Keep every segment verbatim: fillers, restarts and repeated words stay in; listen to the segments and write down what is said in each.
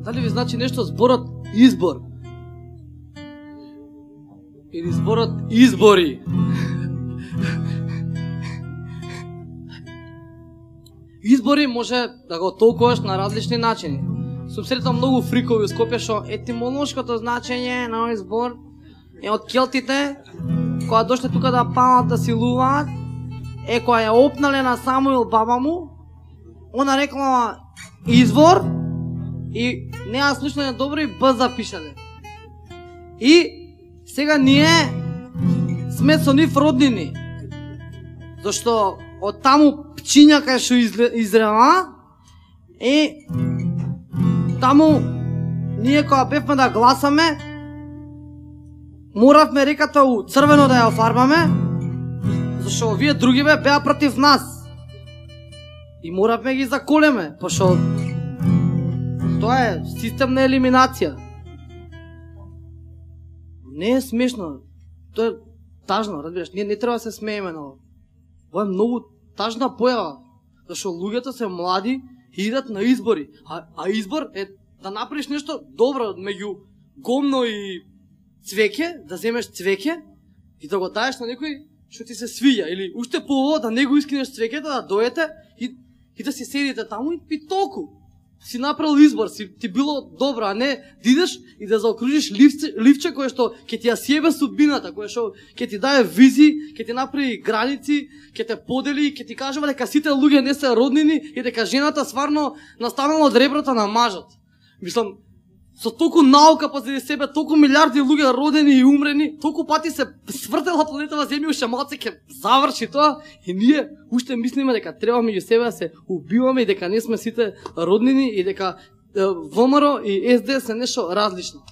Дали ви значи нешто зборот избор? Или зборот избори? Избори може да го толкуваш на различни начини. Сум сретал многу фрикови у Скопје што етимолошкото значење на овој збор е од келтите, која дошле тука да палат, да силуваат, е која ја опнале на Самуил баба му, она рекла извор и не ја слушнале добро и б запишале. И сега ние сме со нив роднини, зашто од таму пчиња кај што изрева и таму ние кога бевме да гласаме, моравме реката у црвено да ја офарбаме, зашто овие другиве беа против нас. И моравме ги заколеме, пошто тоа е систем на елиминација. Не е смешно, тоа е тажно, разбираш, ние не треба да се смееме на ова. Ова е многу тажна појава, зашто луѓето се млади и идат на избори, а, а избор е да направиш нешто добро меѓу гомно и цвеќе, да земеш цвеќе и да го даеш на некој што ти се свиѓа, или уште по да не го искинеш цвеќето, да дојдете и, и да си седите таму и, и толку. Си направил избор, си ти било добро, а не да идеш и да заокружиш ливче, ливче кое што ќе ти ја сјебе судбината, кое што ќе ти даде визи, ќе ти направи граници, ќе те подели, ќе ти кажува дека сите луѓе не се роднини и дека жената сварно настанала од реброто на мажот. Мислам, со толку наука позади себе, толку милиарди луѓе родени и умрени, толку пати се свртела планетава Земја, уште малце ќе заврши тоа и ние уште мислиме дека треба меѓу себе да се убиваме и дека не сме сите роднини и дека ВМРО и ес де ес се нешто различно.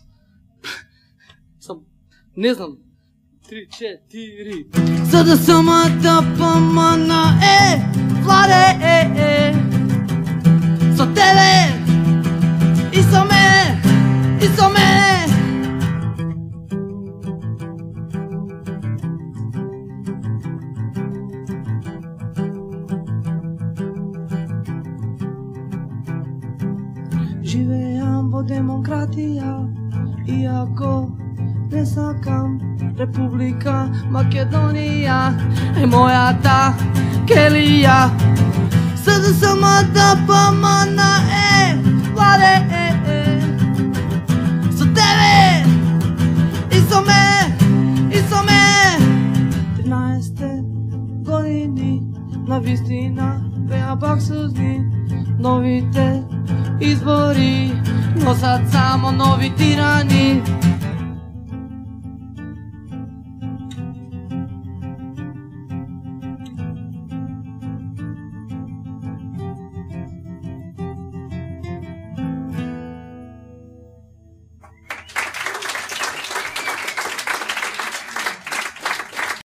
Сам, не знам. Три, четири. За да самата помана е, владе е, е, со тебе и со мене, и со мене. Живеам во демократија, иако не сакам Република Македонија е мојата келија. За да самата помана е, владе е, е, со тебе и со мене, и со мене. Тринаесет години на вистина беа пак сузни, новите избори носат само нови тирани.